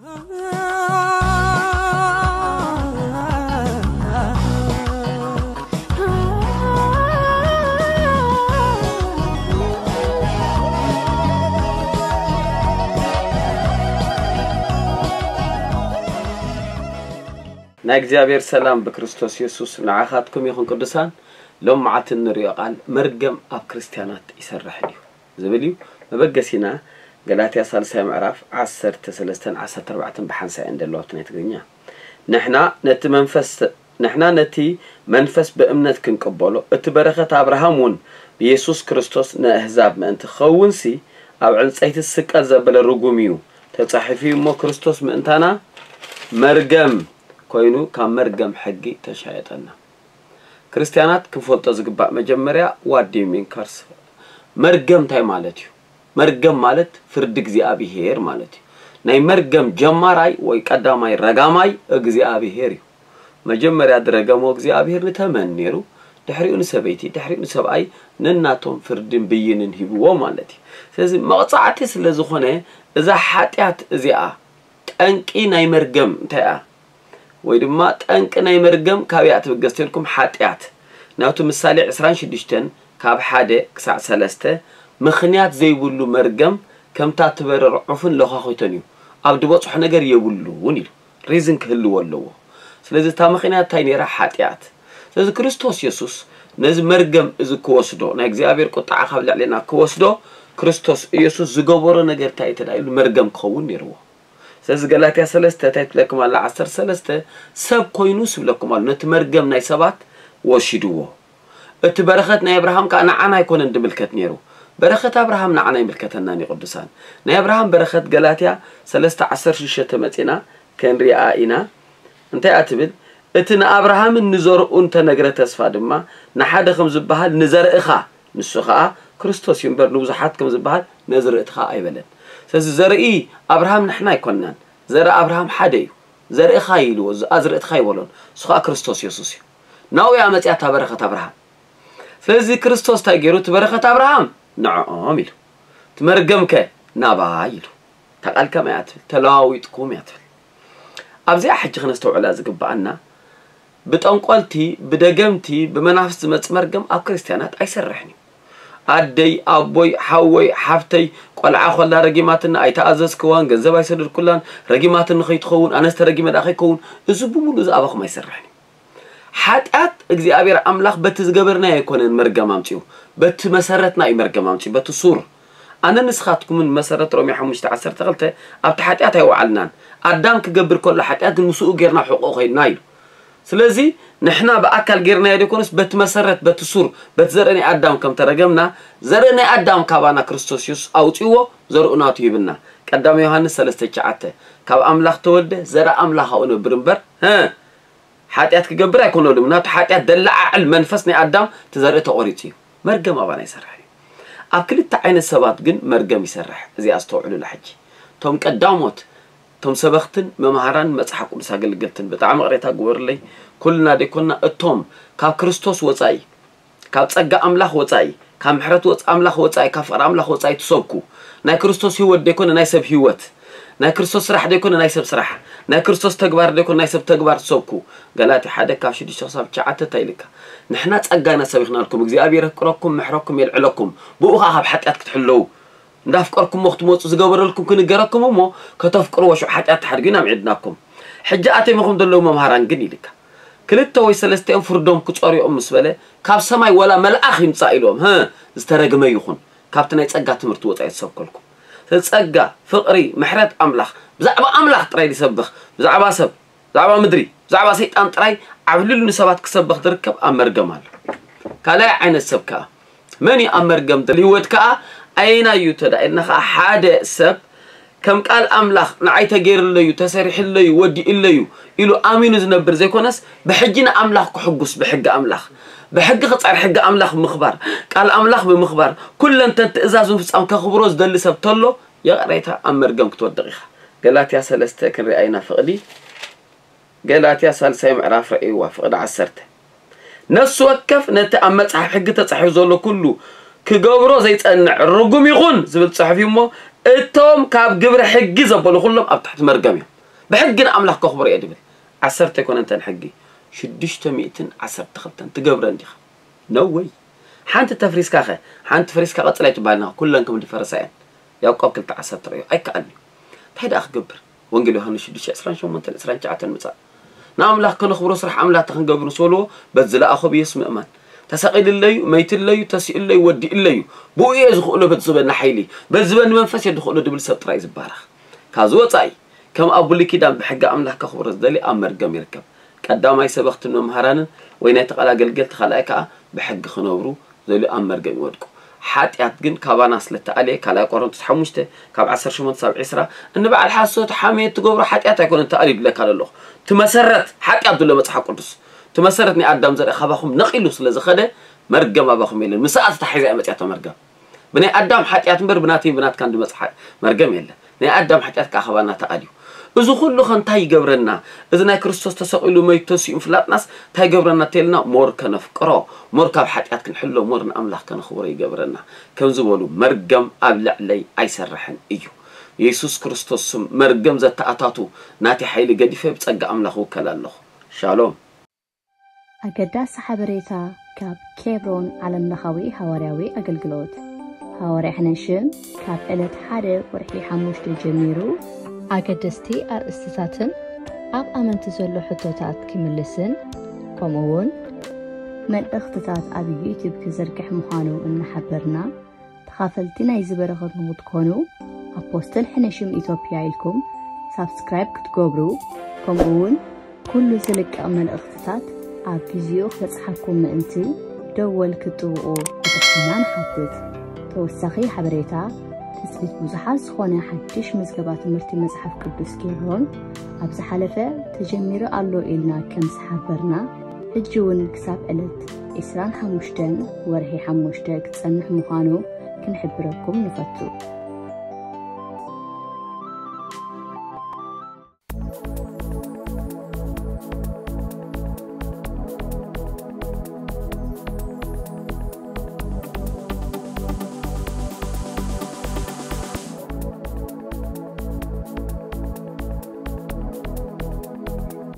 ናይ እግዚኣብሔር ሰላም ብክርስቶስ የሱስ ንዓኻትኩም ይኹን። ቅዱሳን፣ ሎም መዓልቲ እንርእዮ ቃል መርገም ኣብ ክርስትያናት ይሰርሕ ድዩ ዝብል እዩ። መበገሲና ገላትያ ሳልሳይ ምዕራፍ ዓሰርተ ሰለስተን ዓሰርተ ኣርባዕተን ብሓንሳእ እየን ዘለዋ ኣብቲ ናይ ትግርኛ። ንሕና ነቲ መንፈስ ንሕና ነቲ መንፈስ ብእምነት ክንቅበሎ፣ እቲ በረኸት ኣብርሃም እውን ብየሱስ ክርስቶስ ንኣህዛብ ምእንቲ ክኸውንሲ፣ ኣብ ዕንጸይቲ ዝስቀል ዘበለ ርጉም እዩ፣ ተጻሒፉ እዩ እሞ፣ ክርስቶስ ምእንታና መርገም ኮይኑ ካብ መርገም ሕጊ ተሻየጠና። ክርስትያናት ክንፈልጦ ዝግባእ መጀመርያ what do you mean curse? መርገም እንታይ ማለት እዩ? መርገም ማለት ፍርዲ እግዚኣብሄር ማለት እዩ። ናይ መርገም ጀማራይ ወይ ቀዳማይ ረጋማይ እግዚኣብሄር እዩ። መጀመርያ ዝረገሞ እግዚኣብሄር ንተመን ነይሩ፣ ድሕሪኡ ንሰበይቲ፣ ድሕሪኡ ንሰብኣይ ነናቶም ፍርድን ብይንን ሂብዎ ማለት እዩ። ስለዚ መቕጻዕቲ ስለ ዝኾነ እዛ ሓጢኣት እዚኣ ጠንቂ ናይ መርገም እንታይ እያ? ወይ ድማ ጠንቂ ናይ መርገም ካበይ እያ ትብገስ ተልኩም ሓጢኣት። ናብቲ ምሳሌ ዕስራን ሽዱሽተን ካብ ሓደ ክሳዕ ሰለስተ ምኽንያት ዘይብሉ መርገም ከምታ ትበርር ዑፍን ለዃኺቶን እዩ። ኣብ ዝበጽሖ ነገር የብሉን ኢሉ። ሪዝን ክህልዎ ኣለዎ። ስለዚ እታ ምኽንያት እንታይ ነይራ? ሓጢኣት። ስለዚ ክርስቶስ የሱስ ነዚ መርገም እዚ ክወስዶ፣ ናይ እግዚኣብሔር ቁጥዓ ካብ ልዕሌና ክወስዶ፣ ክርስቶስ ኢየሱስ ዝገበሮ ነገር እንታይ እዩ ተዳይሉ? መርገም ክኸውን ነይርዎ። ስለዚ ገላትያ ሰለስተ እንታይ ትብለኩም ኣላ? ዓሰርተ ሰለስተ ሰብ ኮይኑ ስብለኩም ኣሎ። ነቲ መርገም ናይ ሰባት ወሲድዎ። እቲ በረኸት ናይ ኣብርሃም ከኣ ንዓና ኣይኮነን ድምልከት ነይሩ። በረኸት ኣብርሃም ንዓና ይምልከተናን እዩ ቅዱሳን። ናይ ኣብርሃም በረኸት ገላትያ ሰለስተ ዓሰርተ ሽዱሽተ መጺና ክንሪኣ ኢና። እንታይ እያ ትብል? እቲ ንኣብርሃምን ንዘርኡን ተነግረ ተስፋ ድማ ንሓደ ከም ዝበሃል ንዘርእኻ፣ ንሱ ኸኣ ክርስቶስ እዩ እምበር ንብዙሓት ከም ዝበሃል ነዝርእትኻ ኣይበለን። ስለዚ ዘርኢ ኣብርሃም ንሕና ኣይኮንናን። ዘርኢ ኣብርሃም ሓደ እዩ። ዘርእኻ ኢልዎ፣ ኣዝርእትኻ ኣይበሎን። እሱ ኸኣ ክርስቶስ የሱስ እዩ። ናብኡ እያ መጺኣ እታ በረኸት ኣብርሃም። ስለዚ ክርስቶስ እንታይ ገይሩ? እቲ በረኸት ኣብርሃም ንዕኦም ኢሉ፣ እቲ መርገምከ ናባይ ኢሉ። እታ ቃል ከመይ እያ ትብል? ተለዋዊጥኩም እያ ትብል። ኣብዚኣ ሕጂ ክነስተውዕላ ዝግብኣና፣ ብጠንቆልቲ፣ ብደገምቲ፣ ብመናፍስቲ ዝመጽእ መርገም ኣብ ክርስትያናት ኣይሰርሕን እዩ። ኣደይ፣ ኣቦይ፣ ሓወይ፣ ሓፍተይ፣ ቆልዓ ኮላ ረጊማትና፣ ኣይተኣዘዝክዋን፣ ገንዘብ ኣይሰደድኩላን፣ ረጊማትኒ ከይትኸውን፣ ኣነስ ተረጊመ ደኣ ከይከውን፣ እዚ ብምሉእ እዚ ኣባኹም ኣይሰርሕን እዩ። ሓጢኣት እግዚኣብሔር ኣምላኽ በቲ ዝገበርናዮ ኣይኮነን መርገም ኣምጺኡ፣ በቲ መሰረትና እዩ መርገም ኣምጺኡ፣ በቲ ሱር። ኣነ ንስኻትኩምን መሰረት ሮሜ ሓሙሽተ ዓሰርተ ክልተ ኣብቲ ሓጢኣት ኣይወዓልናን። ኣዳም ክገብር ከሎ ሓጢኣት ግን ምስኡ ጌርና ሕቆ ኮይንና ኢሉ። ስለዚ ንሕና ብኣካል ጌርናዮ ዘይኮነስ በቲ መሰረት፣ በቲ ሱር፣ በቲ ዘርኢ ናይ ኣዳም ከም ተረገምና፣ ዘርኢ ናይ ኣዳም ካባና ክርስቶስ የሱስ ኣውጺእዎ፣ ዘርኡ ናቱ ሂብና። ቀዳማይ ዮሃንስ ሰለስተ ትሽዓተ፣ ካብ ኣምላኽ ተወልደ ዘርኢ ኣምላኽ ኣብኡ ነብር እምበር፣ ሀ፣ ሓጢኣት ክገብር ኣይኮነሉም። ናቱ ሓጢኣት ደለዓዕል መንፈስ ናይ ኣዳም እቲ ዘርኢ ተቖሪጹ እዩ። መርገም ኣባና ይሰርሕ እዩ። ኣብ ክልተ ዓይነት ሰባት ግን መርገም ይሰርሕ። እዚኣ ኣስተውዕሉላ ሕጂ። እቶም ቀዳሞት፣ እቶም ሰበኽትን መምሃራን መጽሓፍ ቅዱስ ኣገልገልትን ብጣዕሚ ቅሬታ ግበሩለይ። ኩልና ደይኮንና እቶም ካብ ክርስቶስ ወጻኢ፣ ካብ ጸጋ ኣምላኽ ወጻኢ፣ ካብ ምሕረት ወጽ-፣ ኣምላኽ ወጻኢ፣ ካብ ፍቕሪ ኣምላኽ ወጻኢ ትሰብኩ፣ ናይ ክርስቶስ ህይወት ደይኮነ ናይ ሰብ ህይወት፣ ናይ ክርስቶስ ስራሕ ደይኮነ ናይ ሰብ ስራሕ፣ ናይ ክርስቶስ ተግባር ደይኮነ ናይ ሰብ ተግባር ትሰብኩ፣ ገላትያ ሓደ ካብ ሽዱሽተ ክሳብ ትሽዓተ እንታይ ኢልካ? ንሕና ጸጋ ኢና ሰቢኽናልኩም፣ እግዚኣብሔር የፍቅረኩም፣ ምሕረኩም የልዕለኩም፣ ብኡ ኸዓ ካብ ሓጢኣት ክትሕለዉ፣ እንዳፍቀርኩሞ ክትመጹ ዝገበረልኩም ክንገረኩም እሞ ከተፍቅርዎ ሽዑ ሓጢኣት ትሓድጉ ኢና ምዒድናኩም። ሕጂ ኣትዮም ኢኹም ዘለዉ መምሃራን ግን ኢልካ። ክልተ ወይ ሰለስቲኦም ፍርዶም ክጸርዮም ምስ በለ፣ ካብ ሰማይ ወላ መልኣኽ ይምጻእ ኢልዎም፣ ሀ፣ ዝተረግመ ይኹን፣ ካብቲ ናይ ጸጋ ትምህርቲ ወጻኢ ዝሰብከልኩም። ስለዚ ጸጋ፣ ፍቕሪ፣ ምሕረት ኣምላኽ፣ ብዛዕባ ኣምላኽ ጥራይ ዝሰብኽ፣ ብዛዕባ ሰብ፣ ብዛዕባ ምድሪ፣ ብዛዕባ ሰይጣን ጥራይ ዓብሊሉ ንሰባት ክሰብኽ ዝርከብ ኣብ መርገም ኣሎ። ካልኣይ ዓይነት ሰብ ከኣ፣ መን እዩ ኣብ መርገም ዘሎ? ህይወት ከኣ ኣየናይ እዩ ተዳ ኢልና ከኣ፣ ሓደ ሰብ ከም ቃል ኣምላኽ ንዓይ ተገይሩለዩ፣ ተሰሪሕለዩ፣ ወዲእለዩ ኢሉ ኣሚኑ ዝነብር ዘይኮነስ፣ ብሕጂ ንኣምላኽ ክሕጉስ፣ ብሕጊ ኣምላኽ፣ ብሕጊ ክጸር፣ ሕጊ ኣምላኽ ብምኽባር፣ ቃል ኣምላኽ ብምኽባር፣ ኩለንተን ትእዛዝ ምፍጻም ከኽብሮ ዝደሊ ሰብ ተሎ፣ ይቕሬታ ኣብ መርገም ክትወድቕ ኢኻ። ገላትያ ሰለስተ ክንሪኣ ኢና ፍቕዲ። ገላትያ ሳልሳይ ምዕራፍ ረእይዋ ፍቕዲ ዓሰርተ። ነፍሲ ወከፍ ነቲ ኣብ መጽሓፍ ሕጊ ተጻሒፉ ዘሎ ኩሉ ክገብሮ ዘይጸንዕ ርጉም ይኹን ዝብል ጽሑፍ እዩ እሞ፣ እቶም ካብ ግብሪ ሕጊ ዘበሉ ኩሎም ኣብ ትሕቲ መርገም እዮም። ብሕጊ ንኣምላኽ ከኽብሮ እየ ድብል። ዓሰርተ ኣይኮነንተን ሕጊ፣ ሽዱሽተ ሚእትን ዓሰርተ ክልተን ትገብረን ዲኻ? No way። ሓንቲ ተፍሪስካ ኸ? ሓንቲ ፈሪስካ ቀጽል ኣይትበሃልን ኢኻ። ኩለን ከም ዝፈረሳ እየን። ያዕቆብ ክልተ ዓሰርተ ርእዮ። ኣይከኣልን እዩ። እንታይ ደኣ ክገብር? ወንጌል ዮሃንስ ሽዱሽተ ዕስራን ሸሞንተን ዕስራን ትሽዓተን ምጻእ። ንኣምላኽ ከነኽብሮ ስራሕ ኣምላኽ ክንገብር ምስ በልዎ፣ በዚ ዝለኣኾ ብየሱስ ምእማን። ተሰቒልለዩ፣ መይትለዩ፣ ተሲኡለዩ፣ ወዲእለዩ። ብኡ እየ ዝኽእሎ በቲ ዝበኒ ሓይሊ፣ በቲ ዝበኒ መንፈስ እየ ዝኽእሎ ድብል ሰብ ጥራይ እዩ ዝባረኽ። ካብዚ ወጻኢ፣ ከም ኣብ ብሉይ ኪዳን ብሕጊ ኣምላኽ ከኽብሮ ዝደሊ ኣብ መርገም ይርከብ። ቀዳማይ ሰበኽትን መምሃራንን ወይ ናይ ተቓላ ኣገልገልቲ፣ ካልኣይ ከኣ ብሕጊ ክነብሩ ዝደልዩ ኣብ መርገም ይወድቁ። ሓጢኣት ግን ካባና ስለ እተኣልየ፣ ካልኣይ ቆሮንቶስ ሓሙሽተ ካብ ዓሰርተ ሸሞንተ ሳብ ዕስራ፣ እንበዓል ሓሶት ሓሜት ትገብሮ ሓጢኣት ኣይኮነን ተኣልዩ ድለካ ዘለኹ። ትመሰረት ሓጢኣት ድሎ መጽሓፍ ቅዱስ። ትመሰረት ናይ ኣዳም ዘርኢ ካባኹም ነቒሉ ስለ ዝኸደ መርገም ኣባኹም የለን። ምስኣ ተታሒዛ እያ መጽያቶ መርገም። ብናይ ኣዳም ሓጢኣት እምበር ብናተይን ብናትካን ድመጽእ ሓ-፣ መርገም የለን። ናይ ኣዳም ሓጢኣት ከኣ ካባና ተኣልዩ። እዚ ኩሉ ኸ እንታይ ይገብረና? እዚ ናይ ክርስቶስ ተሰቒሉ መይቱ ተሲኡ ምፍላጥናስ እንታይ ይገብረና? ተልና ሞር ከነፍቅሮ፣ ሞር ካብ ሓጢኣት ክንሕሎ፣ ሞር ንኣምላኽ ከነኽብሮ ይገብረና። ከም ዝበሉ መርገም ኣብ ልዕለይ ኣይሰርሕን እዩ። የሱስ ክርስቶስ ስም መርገም ዘተኣታቱ ናተይ ሓይሊ ገዲፈ ብጸጋ ኣምላኽ እውከል ኣለኹ። ሻሎም። ኣገዳሲ ሓበሬታ ካብ ኬብሮን ዓለምለኻዊ ሃዋርያዊ ኣገልግሎት። ሃዋርያ ሕነሽም ካብ ዕለት ሓደ ወርሒ ሓሙሽተ ጀሚሩ ኣገደስቲ ኣርእስትታትን ኣብ ኣመንቲ ዘሎ ሕቶታት ክምልስን ከምኡ እውን መልእኽትታት ኣብ ዩቲዩብ ክዝርግሕ ምዃኑ እናሓበርና፣ ተኻፈልቲ ናይዚ በረኸት ንኽትኮኑ ኣፖስትል ሕነሽም ኢትዮጵያ ኢልኩም ሳብስክራይብ ክትገብሩ፣ ከምኡ እውን ኩሉ ዝልቀቕ መልእኽትታት ኣብ ግዜኡ ክበጽሓኩም ምእንቲ ደወል ክትጥውቑ ብትሕትና ንሓትት። ተወሳኺ ሓበሬታ፣ ትጽቢት ብዙሓት ዝኾነ ሓድሽ ምዝገባ ትምህርቲ መጽሓፍ ቅዱስ ኬብሮን ኣብ ዝሓለፈ ተጀሚሩ ኣሎ ኢልና ከም ዝሓበርና፣ ሕጂ እውን ክሳብ ዕለት ዕስራን ሓሙሽተን ወርሒ ሓሙሽተ ክጸንሕ ምዃኑ ክንሕብረኩም ንፈቱ።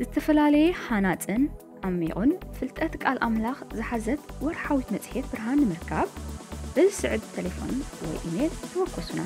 ዝተፈላለየ ሃናጽን ዓሚቑን ፍልጠት ቃል ኣምላኽ ዝሓዘት ወርሓዊት መጽሔት ብርሃን ንምርካብ፣ በዚ ስዕብ ተሌፎን ወይ ኢሜል ተወከሱና።